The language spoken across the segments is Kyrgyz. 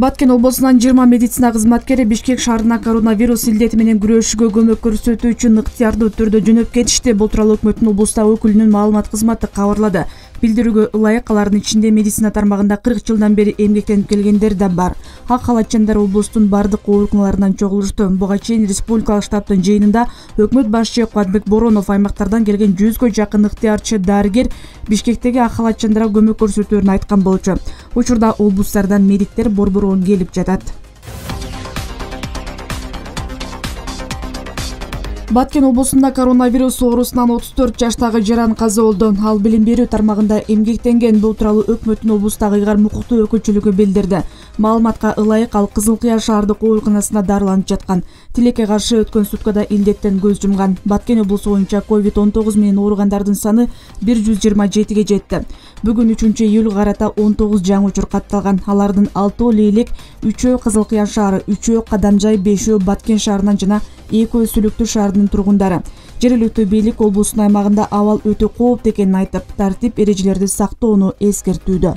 Баткен облусунун 20 медицина кызматкери Бишкек шаарына коронавирус илдети менен күрөшүүгө көмөк көрсөтүү үчүн ыктыярдуу түрдө жөнөп кетишти. Бул тууралуу өкмөттүн облустагы өкүлүнүн маалымат кызматы кабарлады. Билдирүүгө ылайык алардын ичинде медицина тармагында 40 жылдан бери эмгектенип келгендер да бар. Ак халатчандар облустун бардык ооруканаларынан чогулушту. Буга чейин республикалык штабтын жыйынында өкмөт башчы Кубатбек Боронов аймактардан келген 100гө жакын ыктыярчы дарыгер Бишкектеги ак халатчандарга көмөк көрсөтөөрүн айткан болчу. Учурда облустардан медиктер борборун келип жатат. Баткен облусунда коронавирус оорусунан 34 жаштагы жаран каза болду. Ал билим берүү тармагында эмгектенген. Бул тууралуу өкмөттүн облустагы ыйгар мукуктуу өкүлчүлүгү билдирди. Маалыматка ылайык ал Кызыл Кыя шаардык ооруканасында дарыланып жаткан. Тилекке каршы өткөн суткада илдеттен көз жумган. Баткен облусу боюнча COVID-19 менен ооругандардын саны 127ге жетти. Бүгүн 3-июлга карата 19 жаңы учур катталган. Алардын 6 Лейлек, 3 Кызыл Кыя шаары, 3 Кадамжай, 5 Баткен шаарынан жана 2 Сүлүктүү шаарынын тургундары. Жергиликтүү бийлик облустун аймагында абал өтө кооптуу экенин айтып, тартип эрежелерди сактоону эскертүүдө.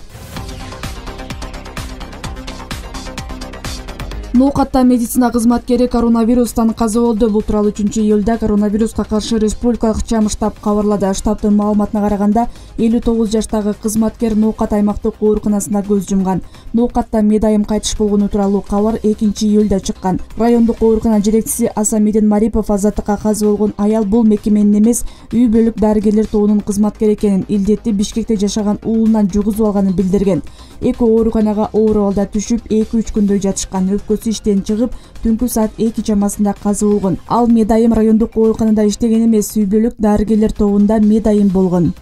Ноокатта медицина кызматкери коронавирустан каза болду. Бул тууралуу 3-июлда коронавируска каршы республикалык чам штаб кабарлады. Штабтын маалыматына караганда 59 жаштагы кызматкер Ноокат аймактык ооруканасында көз жумган. Ноокатта медайым кайтыш болгону тууралуу кабар 2-июлда чыккан. Райондук оорукана жетекчиси Асамидин Марипов азаттыкка каза болгон аял бул мекеменин эмес, үй бүлүк дарыгерлер тобунун кызматкери экенин, илдетти Бишкекте жашаган уулунан жугузуп алганын билдирген. Эки ооруканага оор абалда түшүп 2-3 күндөй жатышкан. Өпкөсү иштен чыгып, түнкү саат 2 чамасында каза болгон. Ал медайым райондук ооруканада иштеген эмес, үй бүлүк дарыгерлер тобунда медайым болгон.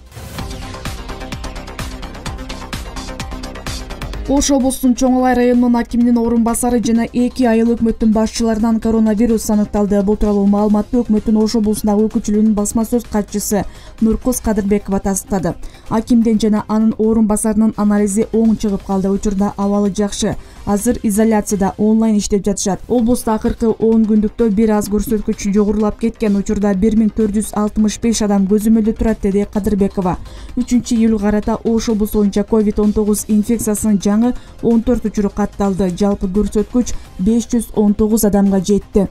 Ош облусунун Чоң Алай районунун акиминин орун басары жана 2 айыл өкмөттүн башчыларынан коронавирус аныкталды. Бул тууралуу маалыматты өкмөттүн Ош облусундагы өкүлчүлүгүнүн басма сөз катчысы Нуркыз Кадырбекова тастыктады. Акимден жана анын орун басарынын анализи оң чыгып калды. Учурда абалы жакшы. Азыр изоляцияда онлайн иштеп жатышат. Облуста акыркы 10 күндүктө бир аз көрсөткүч жогорулап кеткен. Учурда 1465 адам көзөмөлдө турат, деди Кадырбекова. 3-июлга карата Ош облусу боюнча COVID-19 инфекциясынын жаңы 14 учуру катталды. Жалпы көрсөткүч 519 адамга жетти.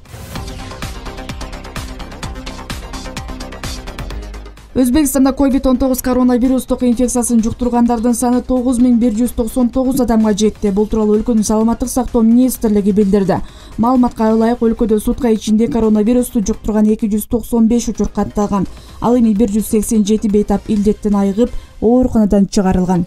Өзбекстанда COVID-19 коронавирустук инфекциясын жуктургандардын саны 9199 адамга жетти. Бул тууралуу өлкөнүн саламаттык сактоо министрлиги билдирди. Маалыматка ылайык өлкөдө сутка ичинде коронавирусту жуктурган 295 учур катталган. Ал эми 187 бейтап илдеттен айыгып, ооруканадан чыгарылган.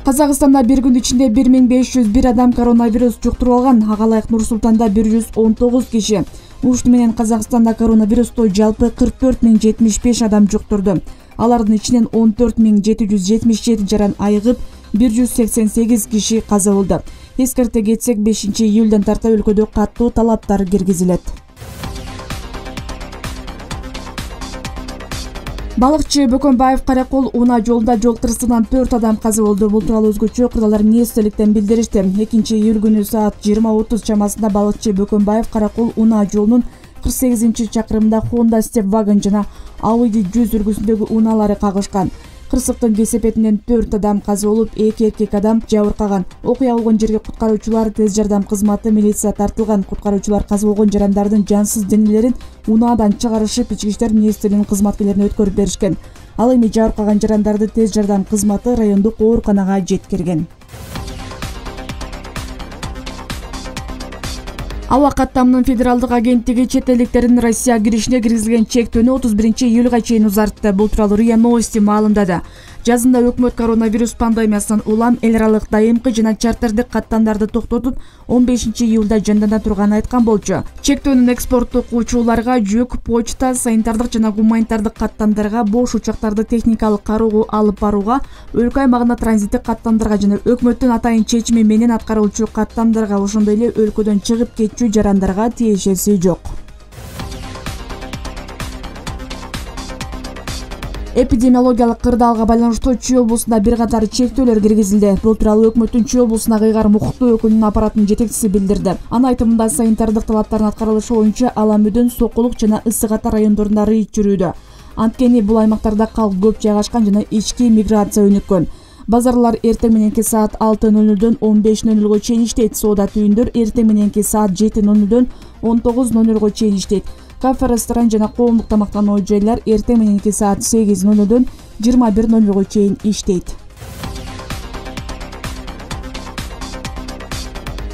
Казакстанда бир күн ичинде 1501 адам коронавирус жуктуруп алган. Ага ылайык Нур-Султанда 119 киши. Ушуну менен Казакстанда коронавирусту жалпы 44075 адам жуктурду. Алардын ичинен 14777 жаран айыгып, 188 киши каза болду. Эскерте кетсек, 5-июлдан тарта өлкөдө каттуу талаптар киргизилет. Балыкчы Бөкөнбаев Каракол унаа жолунда жол кырсыгынан 4 адам каза болду. Бул тууралуу өзгөчө кырдаалар министрликтен билдиришти. 2-июль күнү саат 20:30 чамасында балыкчы Бөкөнбаев Каракол унаа жолунун 48-чакырымында Honda Step Wagon жана Audi 100 үлгүсүндөгү унаалары кагышкан. Кырсыктын кесепетинен 4 адам каза болуп, 2 эркек адам жабыркаган. Окуя болгон жерге куткаруучулар, тез жардам кызматы, милиция тартылган. Куткаруучулар каза болгон жарандардын жансыз денелерин унаадан чыгарышып, Ички иштер министрлигинин кызматкерлерине өткөрүп беришкен. Ал эми жабыркаган жарандарды тез жардам кызматы райондук ооруканага жеткирген. Аба каттамынын федералдык агенттиги чет элдиктердин Россияга киришине киргизилген чектөөнү 31-июлга чейин узартты. Бул тууралуу РИА Новости маалымдады. Жазында өкмөт коронавирус пандемиясынан улам эл аралык дайымкы жана чартердик каттамдарды токтотуп, 15-июлда жандана турганын айткан болчу. Чектөөнүн экспорттук учурларга, жүк, почта, санитардык жана гуманитардык каттамдарга, бош учактарды техникалык кароого алып барууга, өлкө аймагына транзиттик каттамдарга жана өкмөттүн атайын чечими менен аткарылчу каттамдарга, ошондой эле өлкөдөн чыгып кетчү жарандарга тиешеси жок. Эпидемиологиялык кырдаалга байланыштуу Чүй облусунда бир катар чектөөлөр киргизилди. Бул тууралуу өкмөттүн Чүй облусундагы ыйгар мукуктуу өкүлүнүн аппаратынын жетекчиси билдирди. Анын айтымында санитардык талаптардын аткарылышы боюнча Ала-Мүдүн, Сокулук жана Ысык Ата райондорунда рейд жүрүүдө. Анткени бул аймактарда калк көп жайгашкан жана ички миграция өнүккөн. Базарлар эртең мененки саат 6:00дөн 15:00 чейин иштейт. Соода түйүндөр эртең мененки саат 7:00дөн 19:00 чейин иштейт. Кафе, ресторан жана коомдук тамактануу жайлар эртең мененки саат 8:00дөн 21:00 чейин иштейт.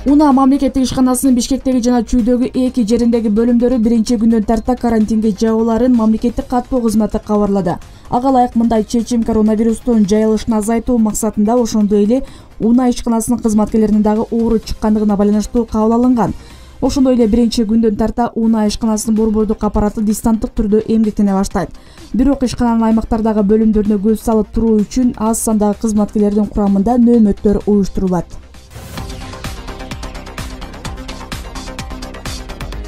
УНА мамлекеттик ишканасынын Бишкектеги жана Чүйдөгү 2 жериндеги бөлүмдөрү биринчи күндөн тарта карантинге жабылаарын мамлекеттик каттоо кызматы кабарлады. Ага ылайык мындай чечим коронавирустун жайылышын азайтуу максатында ошондой эле УНА ишканасынын кызматкерлеринин дагы оору чыккандыгына байланыштуу кабыл алынган. Ошондой эле биринчи күндөн тарта УНА ишканасынын борбордук аппараты дистанттык түрдө эмгектене баштайт. Бирок ишкананын аймактардагы бөлүмдөрүнө көз салып туруу үчүн аз сандагы кызматкерлердин курамында нөөмөттөр уюштурулат.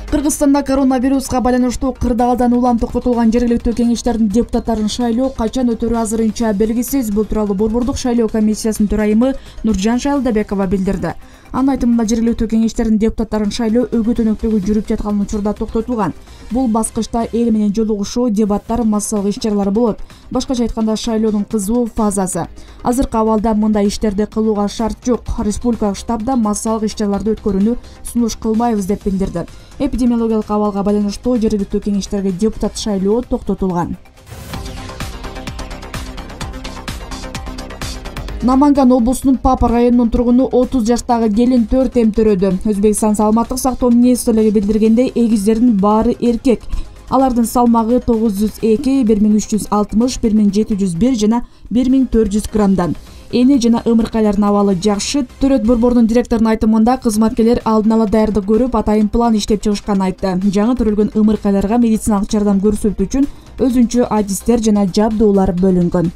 Кыргызстанда коронавируска байланыштуу кырдаалдан улам токтотулган жергиликтүү кеңештердин депутаттарын шайлоо качан өтөрү азырынча белгисиз. Бул тууралуу борбордук шайлоо комиссиясынын төрайымы Нуржан Шайлдабекова билдирди. Анын айтымында жергиликтүү кеңештердин депутаттарын шайлоо өгөт өнөктөгү жүрүп жаткан учурда токтотулган. Бул баскычта эл менен жолугушуу, дебаттар, массалык иш-чаралар болот. Башкача айтканда шайлоонун кызуу фазасы. Азыркы абалда мындай иштерди кылууга шарт жок. Республикалык штабда массалык иш-чараларды өткөрүүнү сунуш кылмайбыз деп билдирди. Эпидемиологиялык абалга байланыштуу жергиликтүү кеңештерге депутат шайлоо токтотулган. Наманган облусунун Папа районунун тургуну 30 жаштагы келин 4 эмтөрөдү. Өзбекстан саламаттык сактоо министрлиги билдиргендей, эгиздердин баары эркек. Алардын салмагы 902, 1360, 1701 жана 1400 граммдан. Эне жана ымыркайлардын абалы жакшы. Төрөт борборунун директорунун айтымында кызматкерлер алдын ала даярдык көрүп, атайын план иштеп чыгышканын айтты. Жаңы төрөлгөн ымыркайларга медициналык жардам көрсөтүү үчүн өзүнчө адистер жана жабдуулар бөлүнгөн.